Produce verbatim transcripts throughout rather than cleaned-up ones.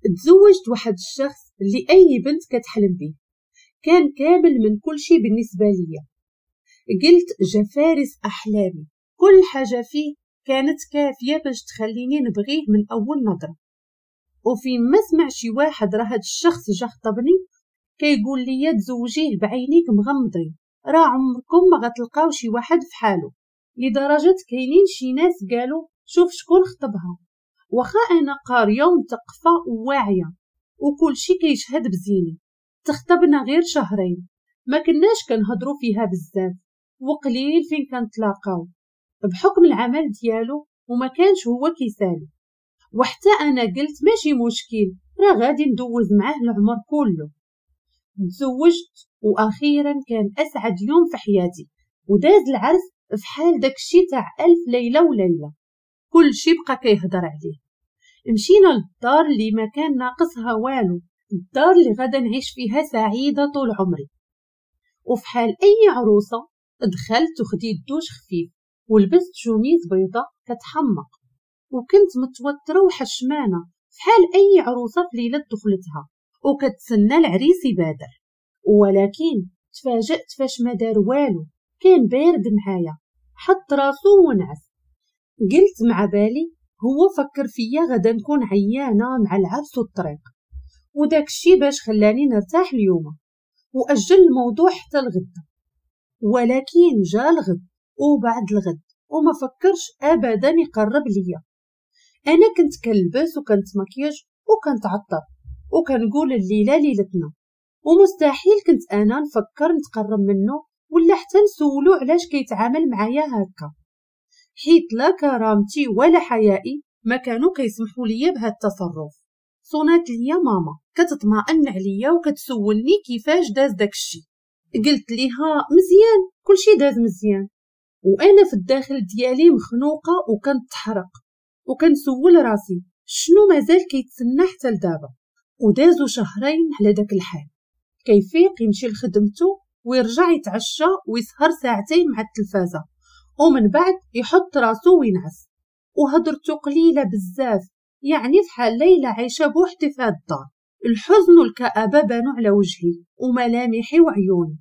تزوجت واحد الشخص اللي اي بنت كتحلم به، كان كامل من كل شيء بالنسبة ليا. قلت جا فارس احلامي، كل حاجة فيه كانت كافيه باش تخليني نبغيه من اول نظره. وفين ما سمع شي واحد راه هاد الشخص جا خطبني كيقول لي تزوجيه بعينيك مغمضين، راه عمركم ما غتلقاو شي واحد فحالو. لدرجة كاينين شي ناس قالوا شوف شكون خطبها، واخا انا قارية ومثقفه وواعيه وكل شي كيشهد بزيني. تخطبنا غير شهرين، ما كناش كنهضروا فيها بزاف وقليل فين كنتلاقاو بحكم العمل ديالو، وما كانش هو كيسالي. وحتى انا قلت ماشي مشكل، راه غادي ندوز معاه العمر كله. تزوجت واخيرا كان اسعد يوم في حياتي، وداز العرس فحال داكشي تاع الف ليلة وليلة، كل شي بقى كيهضر عليه. مشينا للدار اللي ما كان ناقصها والو، الدار اللي غادا نعيش فيها سعيدة طول عمري. وفحال اي عروسه دخلت وخديت دوش خفيف ولبست شوميز بيضاء كتحمق، وكنت متوترة وحشمانه فحال اي عروسه في ليلة دخلتها وكتسنى العريس يبادر. ولكن تفاجأت فاش ما دار والو، كان بارد معايا، حط راسو ونعس. قلت مع بالي هو فكر فيا غدا نكون عيانه مع العرس والطريق، وداك الشي باش خلاني نرتاح اليوم واجل الموضوع حتى الغد. ولكن جا الغد وبعد الغد وما فكرش ابدا يقرب ليا. انا كنت كنلبس وكنتمكيج وكنتعطر وكنقول الليلة ليلتنا، ومستحيل كنت انا نفكر نتقرب منه ولا حتى نسولو علاش كيتعامل معايا هكا، حيت لا كرامتي ولا حيائي ما كانوا كيسمحوا ليا بهذا التصرف. صونات ليا ماما كتطمئن عليا وكتسولني كيفاش داز داكشي. قلت ليها مزيان، كلشي داز مزيان، وانا في الداخل ديالي مخنوقه وكنتحرق وكنسول راسي شنو مازال كيتسنى حتى لدابا. ودازو شهرين على داك الحال، كيفيق يمشي لخدمته ويرجع يتعشى ويسهر ساعتين مع التلفازه، ومن بعد يحط راسو وينعس، وهضرته قليله بزاف، يعني فحال ليلى عايشه بوحدي في هاد الدار. الحزن والكآبة بانوا على وجهي وملامحي وعيوني.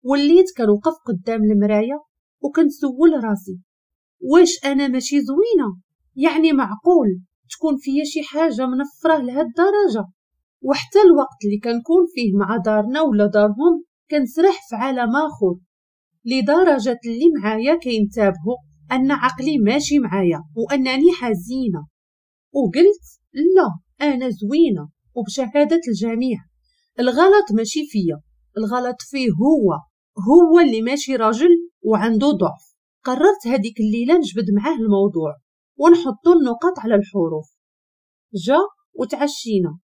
وليت كنوقف قدام المراية وكنسول راسي واش انا ماشي زوينة؟ يعني معقول تكون فيا شي حاجة منفره لهاد الدرجة؟ وحتى الوقت اللي كنكون فيه مع دارنا ولا دارهم كنسرح في عالم اخر، لدرجة اللي معايا كينتبهوا ان عقلي ماشي معايا وانني حزينة. وقلت لا، انا زوينة وبشهاده الجميع، الغلط ماشي فيا، الغلط فيه هو، هو اللي ماشي راجل وعنده ضعف. قررت هذيك الليلة نجبد معاه الموضوع ونحطو النقاط على الحروف. جا وتعشينا،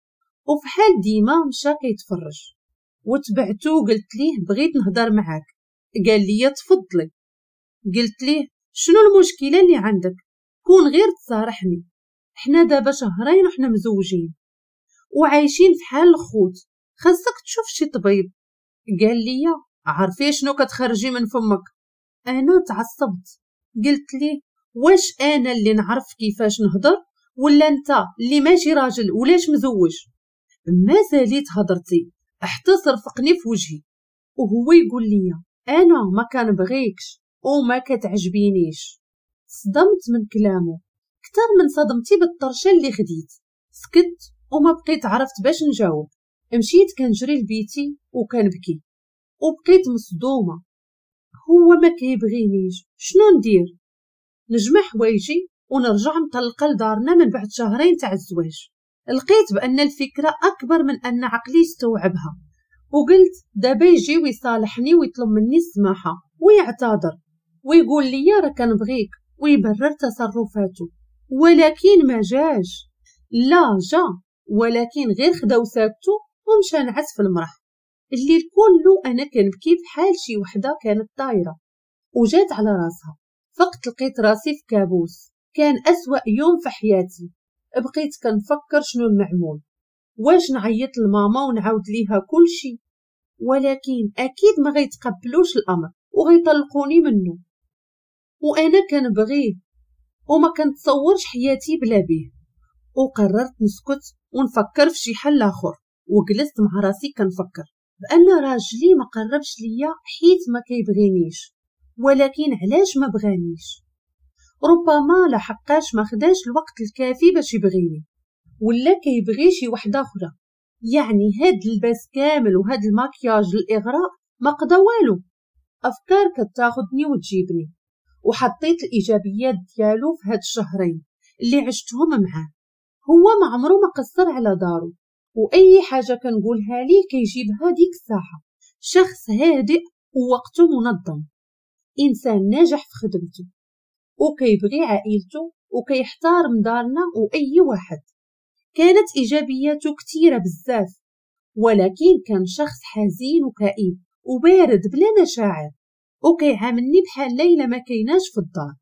وفحال ديما مشى كيتفرج، وتبعتو قلت ليه بغيت نهضر معاك. قال لي تفضلي. قلت ليه شنو المشكلة اللي عندك؟ كون غير تصارحني، حنا دابا شهرين وحنا مزوجين وعايشين في حال الخوت، خاصك تشوف شي طبيب. قال لي عارفي شنو كتخرجي من فمك؟ انا تعصبت، قلت ليه واش انا اللي نعرف كيفاش نهضر ولا انت اللي ماشي راجل ولاش مزوج؟ ما زاليت هضرتي حتى صرفقني في وجهي وهو يقول لي انا ما كنبغيكش وما كتعجبينيش. صدمت من كلامه اكثر من صدمتي بالطرشه اللي خديت. سكت وما بقيت عرفت باش نجاوب. مشيت كنجري لبيتي وكنبكي وبقيت مصدومة، هو ما كيبغينيش، شنو ندير؟ نجمع حوايجي ونرجع مطلقه لدارنا من بعد شهرين تاع الزواج. لقيت بان الفكرة اكبر من ان عقلي يستوعبها، وقلت دابا يجي ويصالحني ويطلب مني السماحة ويعتذر ويقول لي راه كنبغيك ويبرر تصرفاته. ولكن ما جاش. لا جا، ولكن غير خدا وسادته ومشى نعس في المرح. الليل كله انا كنبكي بحال شي وحده كانت طايره وجات على راسها. فقت لقيت راسي في كابوس، كان اسوأ يوم في حياتي. بقيت كنفكر شنو المعمول، واش نعيط لماما ونعاود ليها كل شيء، ولكن اكيد ما غيتقبلوش الامر وغيطلقوني منه، وانا كنبغيه وما كنتصورش حياتي بلا بيه. وقررت نسكت ونفكر في شي حل اخر. وجلست مع راسي كنفكر بان راجلي ما قربش ليا حيت ما كيبغينيش، ولكن علاش ما بغانيش؟ ربما لحقاش ما خداش الوقت الكافي باش يبغيني، ولا كيبغي شي وحده اخرى. يعني هاد اللباس كامل وهاد الماكياج الاغراء ما قضى والو. افكار كتاخدني وتجيبني، وحطيت الايجابيات ديالو في هاد الشهرين اللي عشتهم معاه. هو ما عمره ما قصر على دارو، واي حاجة كنقولها ليه كيجيبها ديك الساعة. شخص هادئ ووقته منظم، انسان ناجح في خدمته، وكيبغي عائلته، وكيحترم دارنا واي واحد. كانت ايجابياته كثيرة بزاف، ولكن كان شخص حزين وكئيب وبارد بلا مشاعر، وكيعاملني بحال ليلى ما كايناش في الدار.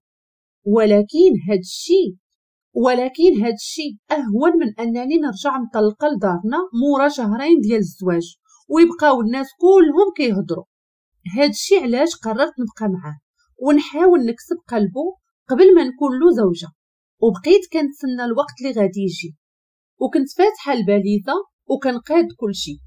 ولكن هاد الشيء ولكن هاد الشيء اهون من انني نرجع مطلقه لدارنا مورا شهرين ديال الزواج ويبقاو الناس كلهم كيهضروا. هاد الشيء علاش قررت نبقى معاه ونحاول نكسب قلبه قبل ما نكون له زوجه. وبقيت كنتسنى الوقت اللي غادي يجي، وكنت فاتحة الباليزه وكنقاد كلشي.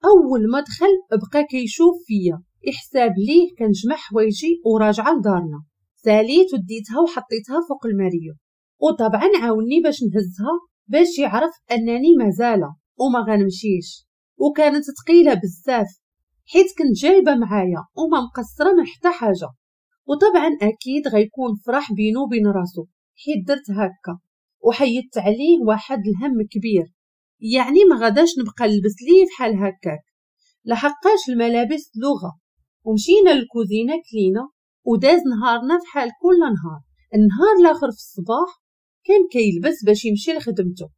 اول ما دخل بقى كيشوف فيا، يحساب ليه كنجمع حوايجي وراجعه لدارنا. ساليت وديتها وحطيتها فوق الماريو، وطبعا عاوني باش نهزها باش يعرف انني مازاله وما غنمشيش. وكانت ثقيلة بزاف حيت كنت جايبه معايا وما مقصرة من حتى حاجة. وطبعا اكيد غيكون فرح بينو وبين راسو حيت درت هكا وحيدت عليه واحد الهم كبير. يعني ما غاداش نبقى نلبس ليه بحال هكاك، لحقاش الملابس لغة. ومشينا للكوزينه كلينا وداز نهارنا فحال كل نهار. النهار الاخر في الصباح كان كيلبس باش يمشي لخدمته،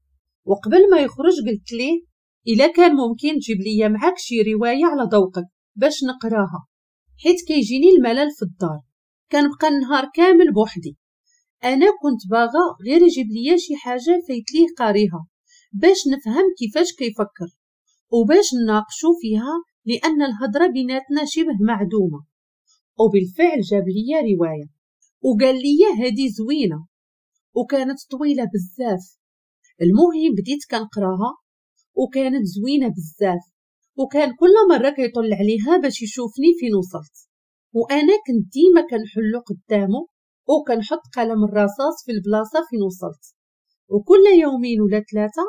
وقبل ما يخرج قلت ليه الا كان ممكن تجيب ليا معاك شي رواية على ذوقك باش نقراها، حيت كيجيني الملل في الدار، كنبقى النهار كامل بوحدي. انا كنت باغا غير يجيب ليا شي حاجة فايت ليه قاريها باش نفهم كيفاش كيفكر وباش نناقشو فيها، لان الهضرة بيناتنا شبه معدومة. وبالفعل جاب ليا رواية وقال لي هذه زوينة، وكانت طويلة بزاف. المهم بديت كنقراها وكانت زوينة بزاف، وكان كل مرة كيطل عليها باش يشوفني فين وصلت. وانا كنت ديما كنحلو قدامه وكنحط قلم الرصاص في البلاصة فين وصلت، وكل يومين ولا ثلاثة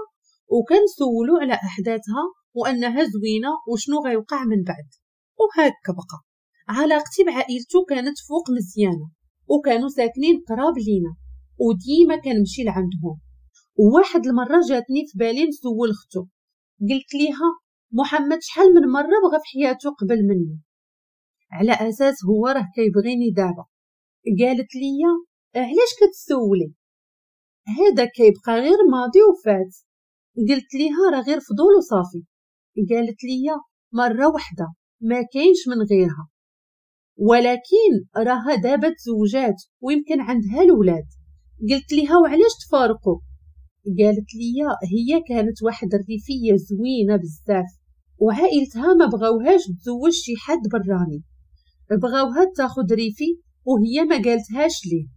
وكنسولو على احداثها وانها زوينة وشنو غيوقع من بعد. وهكا بقى علاقتي بعائلته كانت فوق مزيانه، وكانوا ساكنين قراب لينا وديما كنمشي لعندهم. وواحد المرة جاتني في بالي نسول اختو، قلت ليها محمد شحال من مرة بغى في حياته قبل مني، على اساس هو راه كيبغيني دابا. قالت لي علاش كتسولي، هذا كيبقى غير ماضي وفات. قلت ليها راه غير فضول وصافي. قالت لي مرة واحدة ما كاينش من غيرها، ولكن راها دابا تزوجات ويمكن عندها الولاد. قلت ليها وعلاش تفارقوا؟ قالت لي هي كانت واحد الريفية زوينة بزاف وعائلتها ما بغاوهاش تزوج شي حد براني، بغاوها تاخد ريفي وهي ما قالتهاش ليه.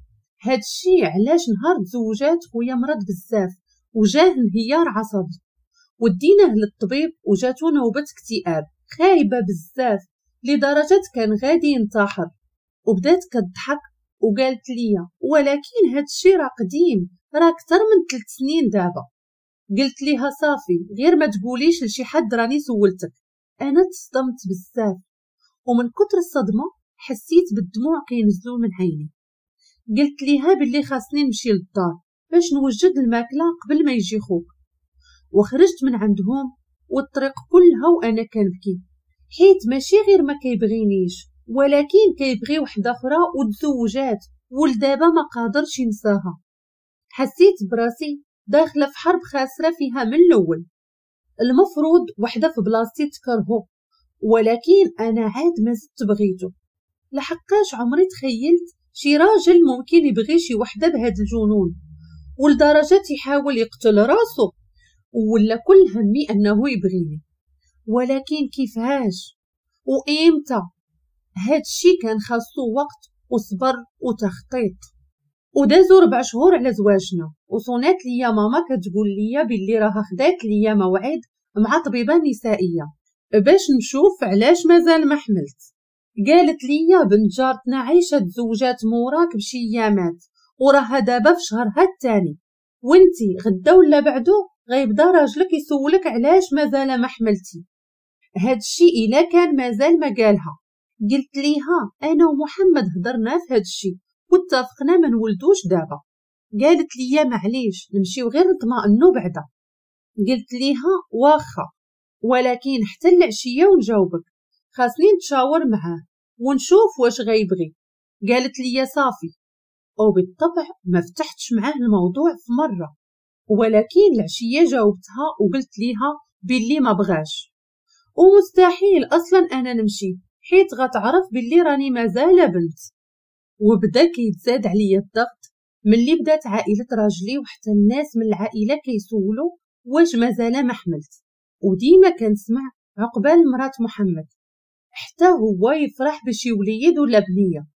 هادشي علاش نهار تزوجات خويا مرض بزاف وجاه انهيار عصبي، وديناه للطبيب وجاتو نوبه اكتئاب خايبة بزاف لدرجة كان غادي ينتحر. وبدات كتضحك وقالت لي ولكن هادشي راه قديم، راه اكثر من ثلاث سنين دابا. قلت ليها صافي غير ما تقوليش لشي حد راني سولتك. انا تصدمت بزاف، ومن كتر الصدمة حسيت بالدموع كينزلوا من عيني. قلت ليها باللي خاصني نمشي للدار باش نوجد الماكلة قبل ما يجي خوك. وخرجت من عندهم والطريق كلها وانا كنبكي، حيت ماشي غير ما كيبغينيش ولكن كيبغي وحده اخرى وتزوجات ولدابا ما قادرش ينساها. حسيت براسي داخله في حرب خاسرة فيها من الاول. المفروض وحده في بلاصتي تكرهو، ولكن انا عاد ما زدت بغيته، لحقاش عمري تخيلت شي راجل ممكن يبغي شي وحده بهذا الجنون ولدرجه يحاول يقتل راسو، ولا كل همي انه يبغيني. ولكن كيفاش وامتى؟ هادشي كان خاصو وقت وصبر وتخطيط. ودازو ربع شهور على زواجنا، وصونات ليا ماما كتقول ليا باللي راها خدات ليا موعد مع طبيبه نسائية باش نشوف علاش مازال ما حملت. قالت ليا بنت جارتنا عايشه تزوجات موراك بشي ايامات وراها دابا في شهرها الثاني، وانتي غدا ولا بعدو غيبدا راجلك يسولك علاش مازال ما حملتي. هادشي الا كان مازال ما قالها. قلت ليها انا ومحمد هضرنا في هادشي واتفقنا ما نولدوش دابا. قالت لي معليش نمشيو غير نطمئنو بعدا. قلت ليها واخا، ولكن حتى العشية ونجاوبك، خاصني نتشاور معاه ونشوف واش غيبغي. قالت لي صافي. وبالطبع ما فتحتش معاه الموضوع في مرة، ولكن العشية جاوبتها وقلت ليها باللي ما بغاش ومستحيل اصلا انا نمشي، حيت غتعرف باللي راني مازال بنت. وبدا كيتزاد عليا الضغط ملي بدات عائلة راجلي وحتى الناس من العائلة كيسولوا واش مازال ما حملت، وديما كنسمع عقبال مرات محمد حتى هو يفرح بشي وليد ولا بنيه،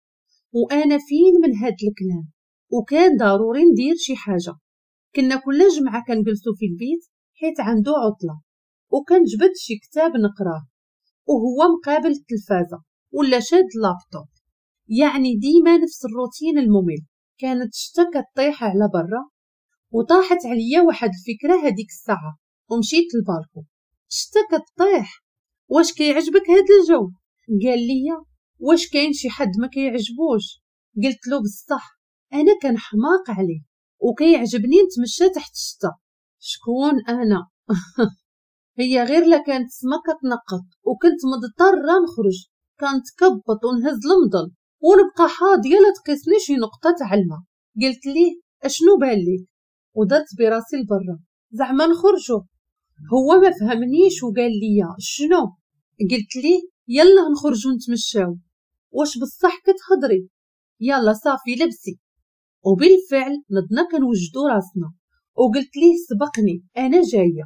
وانا فين من هاد الكلام. وكان ضروري ندير شي حاجة. كنا كل جمعه كنجلسوا في البيت حيت عنده عطله، وكنجبد شي كتاب نقراه وهو مقابل التلفازه ولا شاد اللابتوب، يعني ديما نفس الروتين الممل. كانت الشتا كطيح على برا، وطاحت عليا واحد الفكرة هذيك الساعة ومشيت للبالكو. الشتا كطيح، واش كيعجبك هاد الجو؟ قال لي واش كاين شي حد ما كيعجبوش؟ قلت له بصح انا كنحماق عليه وكيعجبني نتمشى تحت الشتا. شكون انا؟ هي غير لا كانت السما كتنقط وكنت مضطرة نخرج، كنتكبط ونهز المضل ونبقى حاضيه لا تقيسني شي نقطة تاع الماء. قلت ليه اشنو بان ليك؟ ودرت براسي لبرا زعما نخرجوا. هو ما فهمنيش وقال لي شنو؟ قلت ليه يلا نخرجوا نتمشاو. واش بصح كتهضري؟ يلا صافي لبسي. وبالفعل نضنا كنوجدوا راسنا، وقلت ليه سبقني انا جاية.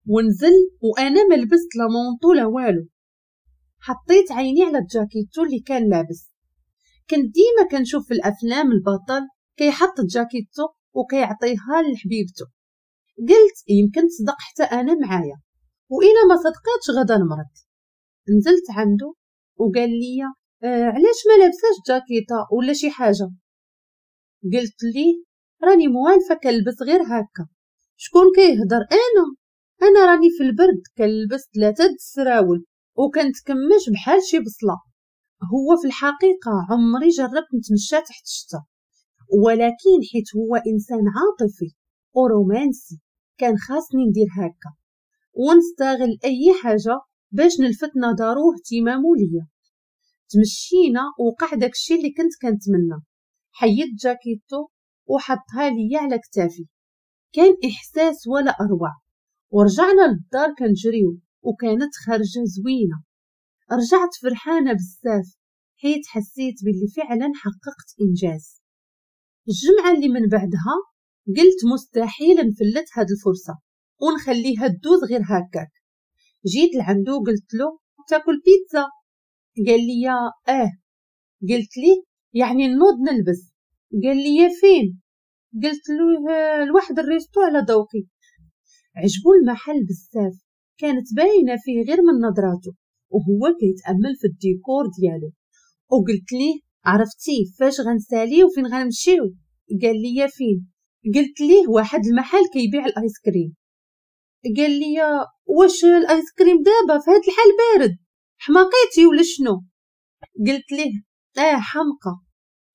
ونزل وانا ما لبست لا manteau لا والو. حطيت عيني على الجاكيتو اللي كان لابس. كنت ديما كنشوف في الافلام البطل كيحط جاكيتو وكيعطيها لحبيبته. قلت يمكن تصدق حتى انا معايا، والا ما صدقاتش غدا نمرض. نزلت عنده وقال لي آه علاش ما لابساش جاكيطه ولا شي حاجة؟ قلت ليه راني موالفه كنلبس غير هكا. شكون كيهضر؟ انا انا راني في البرد كنلبس ثلاثة د السراول وكنتكمش بحال شي بصله. هو في الحقيقة عمري جربت نتمشى تحت الشتا، ولكن حيت هو انسان عاطفي ورومانسي كان خاصني ندير هكا ونستغل اي حاجة باش نلفت نظره واهتمامه ليا. تمشينا وقع داكشي اللي كنت كنتمنى. حيدت جاكيتو وحطها ليا على كتافي، كان احساس ولا اروع. ورجعنا للدار كنجريو وكانت خارجه زوينة. رجعت فرحانة بزاف حيت حسيت باللي فعلا حققت انجاز. الجمعة اللي من بعدها قلت مستحيل نفلت هاد الفرصة ونخليها تدوز غير هكاك. جيت لعندو قلت له تاكل بيتزا؟ قال لي اه. قلت لي يعني نوض نلبس؟ قال لي فين؟ قلت له لواحد ال resto على ذوقي. عجبو المحل بزاف، كانت باينة فيه غير من نظراته وهو كيتامل في الديكور ديالو. وقلت ليه عرفتي فاش غنسالي وفين غنمشيو؟ قال لي فين؟ قلت ليه واحد المحل كيبيع الايس كريم. قال لي واش الايس كريم دابا في هاد الحال بارد؟ حماقيتي ولا شنو؟ قلت ليه اه حمقى،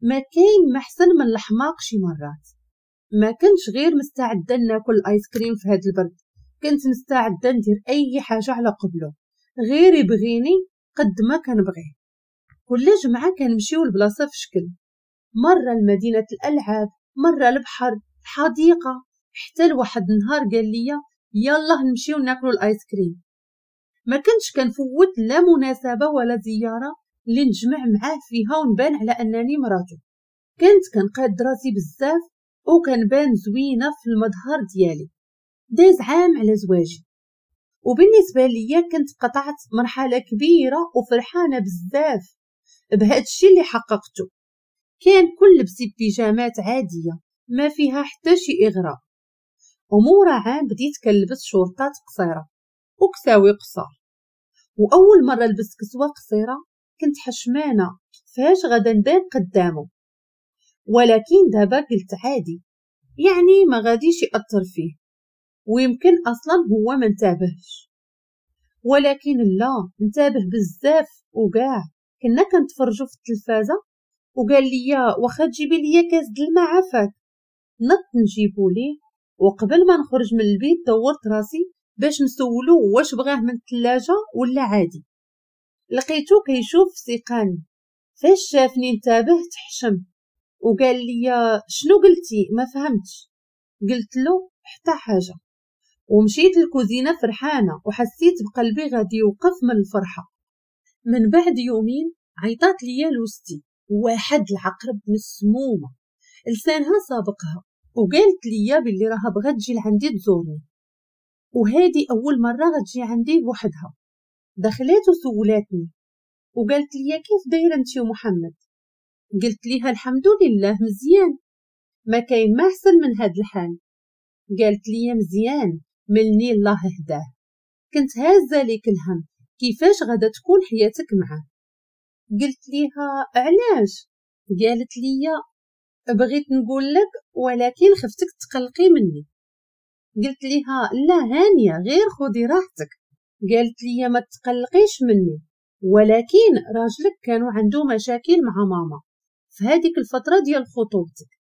ما كاين ما احسن من الحماق شي مرات. ما كنتش غير مستعدة ناكل الايس كريم في هاد البرد، كنت مستعدة ندير اي حاجة على قبله غير يبغيني قد ما كنبغيه. كل جمعه كنمشيو لبلاصه في شكل، مرة لمدينة الالعاب، مرة البحر، الحديقة، حتى لواحد النهار قال لي يلا نمشيو ناكلو الايس كريم. ما كنتش كنفوت لا مناسبة ولا زيارة اللي نجمع معاه فيها ونبان على انني مراته. كنت كنقاد راسي بزاف وكنبان زوينة في المظهر ديالي. داز عام على زواجي، وبالنسبة ليا كنت قطعت مرحلة كبيرة وفرحانه بزاف بهذا الشيء اللي حققته. كان كل لبسي بيجامات عادية ما فيها حتى شي اغراء. ومورا عام بديت كنلبس شورطات قصيرة وكساوي قصار، واول مرة لبست كسوه قصيرة كنت حشمانه كيفاش غادا نبان قدامه، ولكن دابا قلت عادي، يعني ما غاديش يأثر فيه، ويمكن اصلا هو ما انتبهش. ولكن لا، انتبه بزاف وكاع. كنا كنتفرجوا في التلفازه وقال لي واخا تجيبي لي كاس د الماء عافاك. نط نجيبو ليه، وقبل ما نخرج من البيت دورت راسي باش نسولو واش بغاة من الثلاجة ولا عادي. لقيتو كيشوف سيقاني، فاش شافني انتبه تحشم وقال لي شنو قلتي ما فهمتش. قلت له حتى حاجة، ومشيت للكوزينه فرحانة وحسيت بقلبي غادي يوقف من الفرحة. من بعد يومين عيطات ليا لوستي واحد العقرب مسمومة لسانها سابقها، وقالت ليا باللي راها بغات تجي لعندي تزورني، وهذه اول مرة غتجي عندي بوحدها. دخلات وسولاتني وقالت لي كيف دايرة انت ومحمد؟ قلت ليها الحمد لله مزيان، ما كاين ما احسن من هاد الحال. قالت لي مزيان ملني الله هداه، كنت هازه ليك الهم كيفاش غادا تكون حياتك معاه. قلت ليها علاش؟ قالت لي بغيت نقول لك ولكن خفتك تقلقي مني. قلت ليها لا هانيه غير خدي راحتك. قالت لي ما تقلقيش مني، ولكن راجلك كانوا عنده مشاكل مع ماما في هذيك الفترة ديال خطوبتك،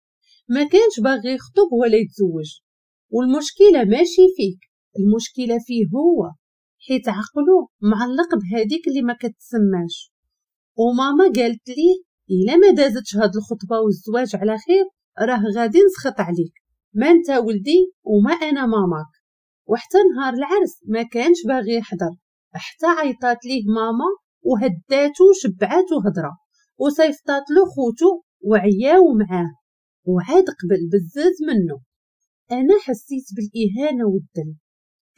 ما كانش باغي يخطب ولا يتزوج، والمشكلة ماشي فيك، المشكلة فيه هو، حيت عقله معلق بهذيك اللي ما كتسماش. وماما قالت ليه الا ما دازتش هاد الخطبة والزواج على خير راه غادي نسخط عليك، ما انت ولدي وما انا ماماك. وحتى نهار العرس ما كانش باغي يحضر، حتى عيطات ليه ماما وهداتو وشبعاتو هضره وصيفطات له خوتو وعياو معاه، وعاد قبل بزاز منه. انا حسيت بالاهانه والذل،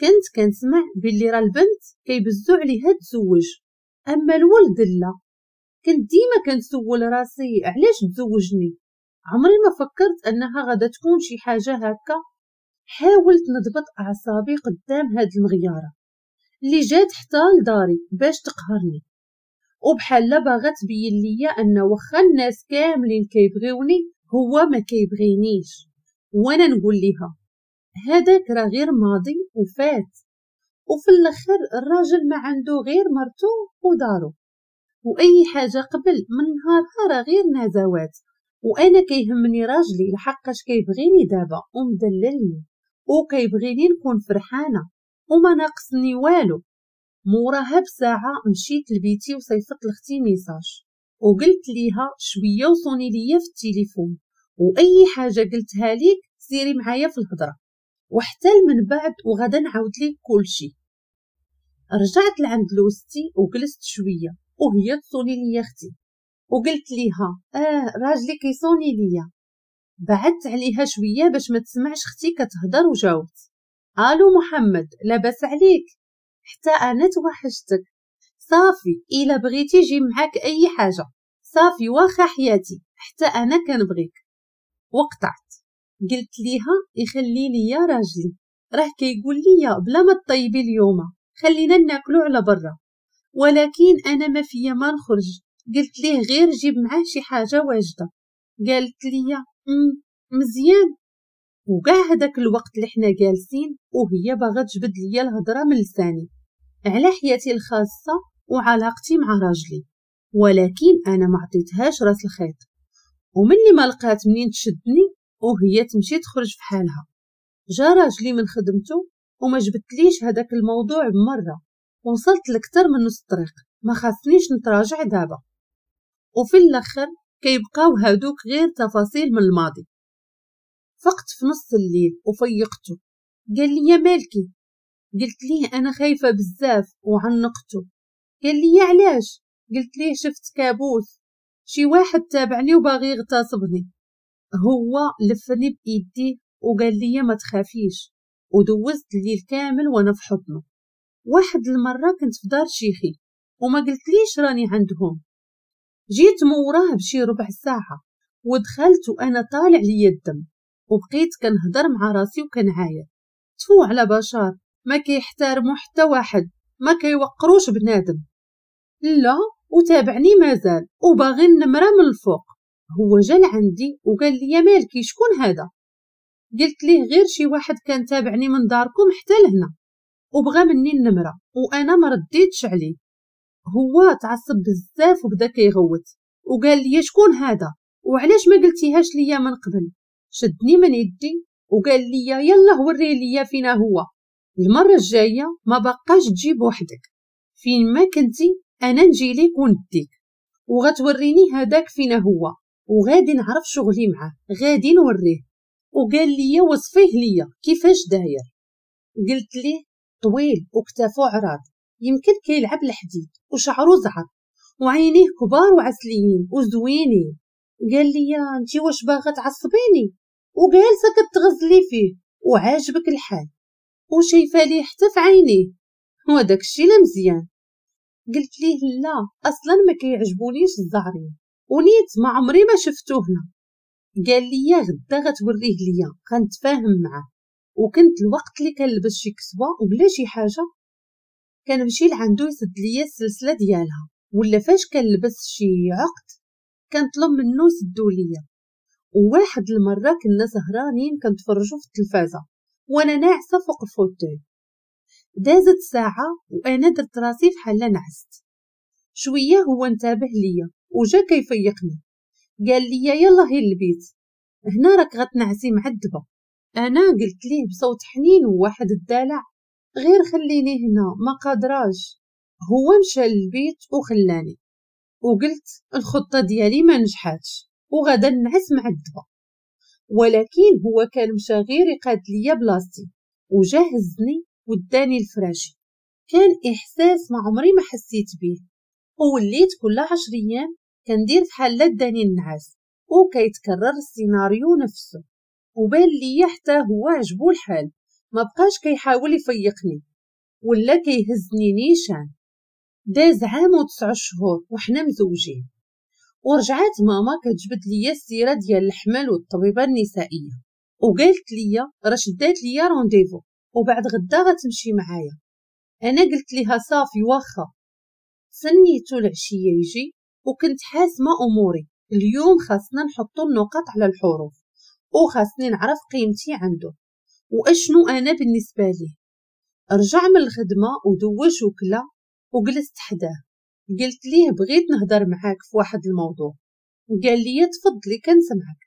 كنت كنسمع باللي راه البنت كيبزو عليها تزوج، اما الولد لا. كنت ديما كنسول راسي علاش تزوجني، عمري ما فكرت انها غادا تكون شي حاجة هكا. حاولت نضبط اعصابي قدام هاد المغياره اللي جات حتى لداري باش تقهرني، وبحال لا باغا تبين ليا ان واخا الناس كاملين كيبغيوني هو ما كيبغينيش. وانا نقول ليها هذاك راه غير ماضي وفات، وفي الاخر الراجل ما عنده غير مرته ودارو، واي حاجة قبل من نهارها راه غير نزوات، وانا كيهمني راجلي لحقاش كيبغيني دابا ومدللني وكيبغيني نكون فرحانة وما ناقصني والو. موراها بساعة مشيت لبيتي وصيفط لختي message وقلت ليها شوية وصوني ليا في التليفون، واي حاجة قلتها ليك سيري معايا في الهضرة، وحتى من بعد وغدا نعاود ليك كلشي. رجعت لعند لوستي وجلست شوية وهي تصوني ليا اختي، وقلت ليها اه راجلي كيصوني ليا. بعدت عليها شوية باش ما تسمعش اختي كتهضر وجاوبت الو محمد لاباس عليك؟ حتى انا توحشتك. صافي الا بغيتي جي معاك اي حاجة. صافي واخا حياتي حتى انا كنبغيك. وقطعت. قلت ليها يخلي لي راجلي راه كيقول لي بلا ما تطيبي اليوم خلينا ناكلو على برا، ولكن انا ما فيا ما نخرج. قلت ليه غير جيب معاه شي حاجة واجدة. قالت لي امم مزيان. وكاع هذاك الوقت اللي حنا جالسين وهي باغا تجبد ليا الهضرة من لساني على حياتي الخاصة وعلاقتي مع راجلي، ولكن انا ما عطيتهاش راس الخيط. ومني ما لقات منين تشدني وهي تمشي تخرج في حالها. جا راجلي من خدمته وما جبتليش هذاك الموضوع بمرة، وصلت لكتر من نص الطريق، ما خاصنيش نتراجع دابا. وفي الاخر كيبقاو هادوك غير تفاصيل من الماضي. فقت في نص الليل وفيقته، قال لي مالكي؟ قلت ليه انا خايفة بزاف وعنقته. قال لي علاش؟ قلت ليه شفت كابوس، شي واحد تابعني وباغي يغتصبني. هو لفني بايديه وقال لي ما تخافيش، ودوزت الليل كامل وانا في حضنه. واحد المرة كنت في دار شيخي وما قلتليش راني عندهم، جيت موراه بشي ربع ساعة ودخلت وانا طالع ليا الدم، وبقيت كنهضر مع راسي وكنعاير. تفو على بشر ما كيحترموا حتى واحد، ما كيوقروش بنادم. لا وتابعني مازال وباغي النمرة من الفوق. هو جا لعندي وقال لي مالكي شكون هذا؟ قلت ليه غير شي واحد كان تابعني من داركم حتى لهنا وبغى مني النمرة وانا ما رديتش عليه. هو تعصب بزاف وبدا كيغوت وقال لي شكون هذا وعلاش ما قلتيهاش ليا من قبل؟ شدني من يدي وقال لي يلا وري ليا فينا هو، المرة الجاية ما بقاش تجيب وحدك، فين ما كنتي انا نجي ليك ونديك وغتوريني هذاك فينا هو، وغادي نعرف شغلي معاه، غادي نوريه. وقال لي وصفيه ليا كيفاش داير. قلت ليه طويل وكتافو عراض، يمكن كيلعب الحديد، وشعرو زعر، وعينيه كبار وعسليين وزوينين. قال لي انتي واش باغا تعصبيني؟ وجالسه كتغزلي فيه وعاجبك الحال وشايفه ليه حتى في عينيه، وداك الشيء لا مزيان. قلت ليه لا اصلا ما كيعجبونيش الزعرين ونيت ما عمري ما شفتو هنا. قال لي غدا غتوريه ليا غنتفاهم معاه. وكنت الوقت اللي كنلبس شي كسوه ولا شي حاجة كنمشي لعندو يسد ليا السلسلة ديالها، ولا فاش كنلبس شي عقد كنطلب منو يسدو ليا. وواحد المرة كنا سهرانين كنتفرجوا في التلفازه وانا ناعسه فوق ال fauteuil. دازت ساعة وانا درت راسي فحال نعست شوية، هو انتبه ليا وجا كيفيقني قال لي يلا هي البيت هنا راك غتنعسي معذبة. انا قلت ليه بصوت حنين وواحد الدلع غير خليني هنا ما قادراش. هو مشى للبيت وخلاني، وقلت الخطة ديالي ما نجحاتش وغادا نعس معذبة. ولكن هو كان مشى غير يقاد ليا بلاصتي وجا هزني وداني الفراشي. كان احساس ما عمري ما حسيت به، ووليت كل عشر ايام كندير فحال داني النعاس وكيتكرر السيناريو نفسه. وبان ليا حتى هو عجبو الحال، ما بقاش كيحاول يفيقني ولا كيهزني نيشان. داز عام وتسع شهور وحنا مزوجين، ورجعات ماما كتجبد ليا السيرة ديال الحمل والطبيبه النسائية، وقالت ليا راه شدات ليا rendez-vous وبعد غدا غتمشي معايا. انا قلت ليها صافي واخا. سنيتو العشية يجي وكنت حاسمة اموري، اليوم خاصنا نحطو النقط على الحروف وخاصني نعرف قيمتي عنده واشنو انا بالنسبة ليه. رجع من الخدمة ودوش وكلا وجلست حداه. قلت ليه بغيت نهضر معاك في واحد الموضوع. قال لي تفضلي كنسمعك.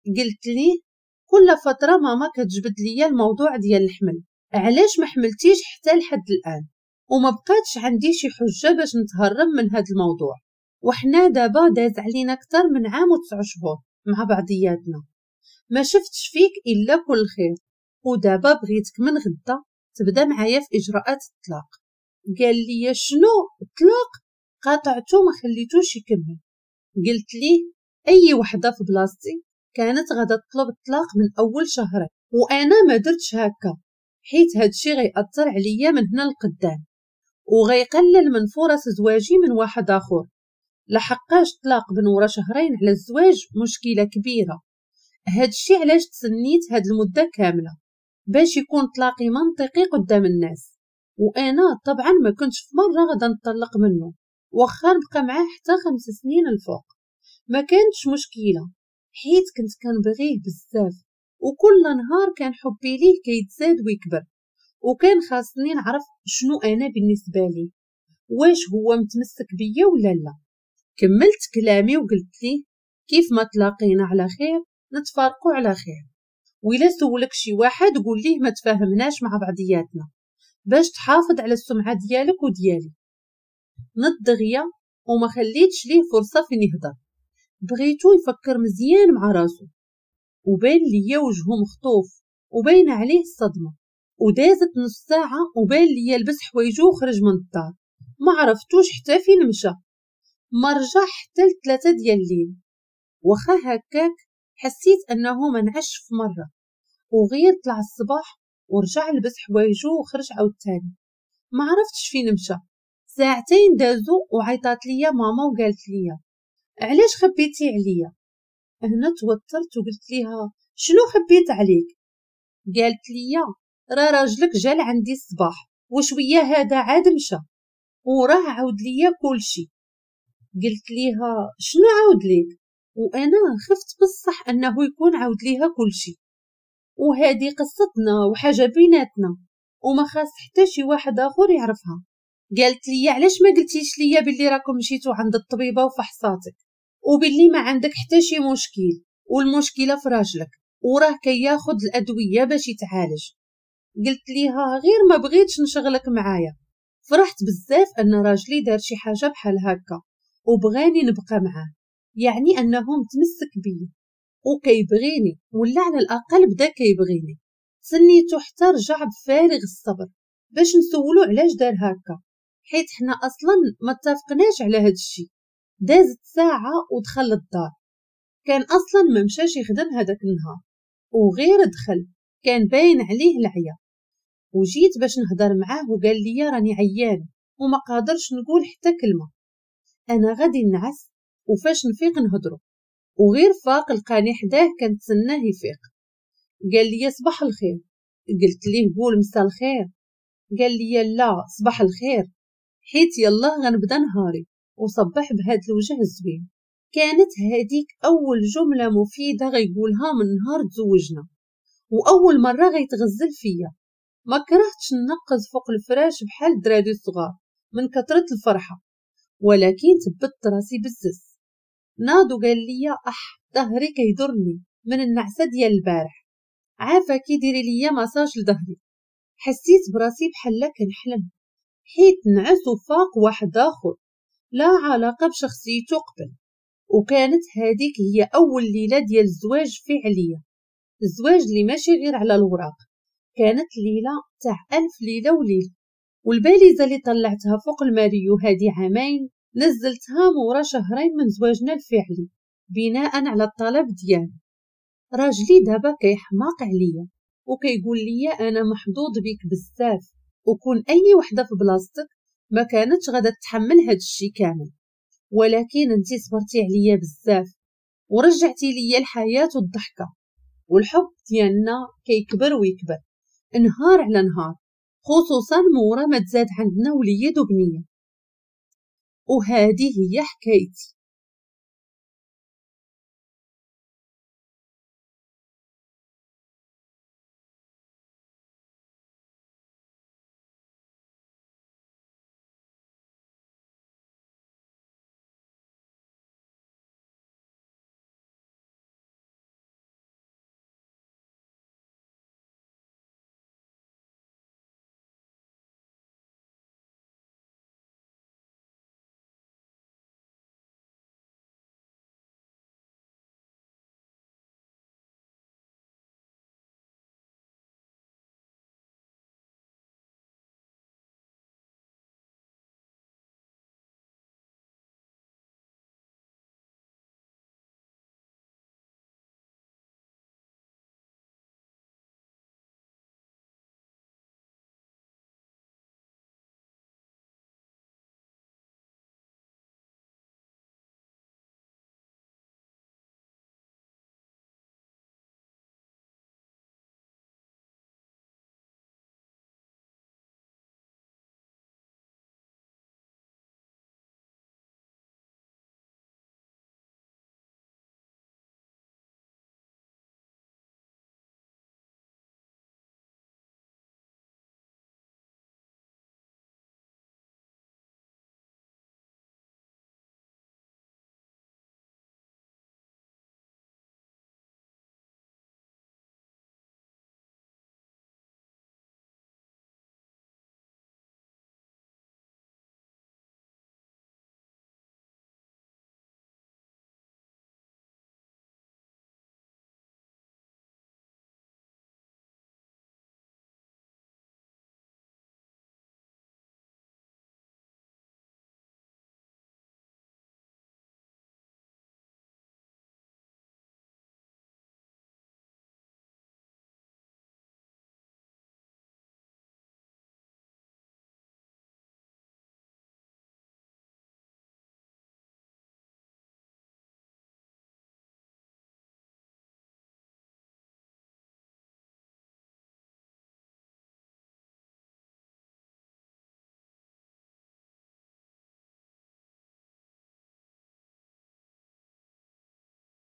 قلت ليه كل فترة ماما كتجبد ليا الموضوع ديال الحمل، علاش ما حملتيش حتى لحد الان؟ وما بقاتش عندي شي حجه باش نتهرب من هذا الموضوع، وحنا دابا داز علينا اكثر من عام وتسع شهور مع بعضياتنا، ما شفتش فيك الا كل خير، ودابا بغيتك من غدا تبدا معايا في اجراءات الطلاق. قال لي شنو الطلاق؟ قاطعته ما خليتوش يكمل. قلت ليه اي وحده في بلاصتي كانت غادا تطلب الطلاق من اول شهرين، وانا ما درتش هكا حيت هادشي غيأثر عليا من هنا لقدام وغيقلل من فرص زواجي من واحد اخر، لحقاش طلاق من ورا شهرين على الزواج مشكلة كبيرة. هادشي علاش تسنيت هاد المدة كاملة باش يكون طلاقي منطقي قدام الناس. وانا طبعا ما كنتش في مرة غادا نطلق منه واخا نبقى معاه حتى خمس سنين الفوق، ما كانتش مشكلة حيت كنت كنبغيه بزاف وكل نهار كان حبي ليه كيتزاد ويكبر، وكان خاصني نعرف شنو انا بالنسبة ليه، واش هو متمسك بيا ولا لا. كملت كلامي وقلت ليه كيف ما تلاقينا على خير نتفارقوا على خير، وإلا سولك شي واحد قول ليه ما تفاهمناش مع بعضياتنا باش تحافظ على السمعة ديالك وديالي. نض دغيا وما خليتش ليه فرصة فين يهضر، بغيتو يفكر مزيان مع راسو. وبان ليا وجهه مخطوف وباين عليه الصدمة. ودازت نص ساعة وبان ليا لبس حوايجو وخرج من الدار، ما عرفتوش حتى فين مشى، ما رجع حتى لثلاثة ديال الليل. واخا هكاك حسيت انه ما نعش في مرة، وغير طلع الصباح ورجع لبس حوايجو وخرج عاوتاني، ما عرفتش فين مشى. ساعتين دازو وعيطات ليا ماما وقالت ليا علاش خبيتي عليا؟ هنا توترت وقلت ليها شنو خبيت عليك؟ قالت لي راه راجلك جا لعندي الصباح وشوية هذا عاد مشى وراه عاود ليا كلشي. قلت ليها شنو عاود ليك؟ وانا خفت بصح انه يكون عاود ليها كلشي، وهذه قصتنا وحاجه بيناتنا وما خاص حتى شي واحد اخر يعرفها. قالت لي علاش ما قلتيش ليا باللي راكم مشيتو عند الطبيبة وفحصاتك وباللي ما عندك حتى شي مشكل والمشكلة في راجلك وراه كياخد الادوية باش يتعالج. قلت ليها غير ما بغيتش نشغلك معايا. فرحت بزاف ان راجلي دار شي حاجة بحال هكا وبغاني نبقى معاه، يعني انه متمسك بيا وكيبغيني، ولا على الاقل بدا كيبغيني. تسنيتو حتى رجع بفارغ الصبر باش نسولو علاش دار هكا، حيت حنا اصلا ما اتفقناش على هاد الشيء. دازت ساعة ودخل للدار، كان اصلا ما مشاش يخدم هذاك النهار، وغير دخل كان باين عليه العيا. وجيت باش نهضر معاه وقال لي راني عيان وما قادرش نقول حتى كلمة، انا غادي نعس وفاش نفيق نهضرو. وغير فاق لقاني حداه كنتسناه يفيق. قال لي صباح الخير. قلت ليه قول مساء الخير. قال لي لا صباح الخير، حيت يلا غنبدا نهاري. وصبح بهاد الوجه الزوين. كانت هذيك اول جملة مفيدة غيقولها من نهار تزوجنا، واول مرة غيتغزل فيا. ما كرهتش ننقز فوق الفراش بحال الدراري الصغار من كثرة الفرحة، ولكن ثبت راسي بزز. ناض وقال لي اح ظهري كيضرني من النعسه ديال البارح، عافاكي ديري ليا ماساج لظهري. حسيت براسي بحال كنحلم، حيت نعس وفاق واحد اخر لا علاقة بشخصيته قبل. وكانت هذيك هي اول ليلة ديال الزواج فعليه، الزواج اللي ماشي غير على الوراق. كانت ليلة تاع الف ليلة وليلة. والباليزه اللي طلعتها فوق الماريو هذه عامين نزلتها مورا شهرين من زواجنا الفعلي بناء على الطلب ديالي. راجلي دابا كيحماق عليا وكيقول لي انا محظوظ بك بزاف، وكون اي وحده في بلاصتك ما كانتش غادا تحمل هاد الشي كامل، ولكن انتي صبرتي عليا بزاف ورجعتي ليا الحياة والضحكه، والحب ديالنا كيكبر ويكبر نهار على نهار، خصوصا مورا ما تزاد عندنا وليد وبنيه. وهذه هي حكايتي.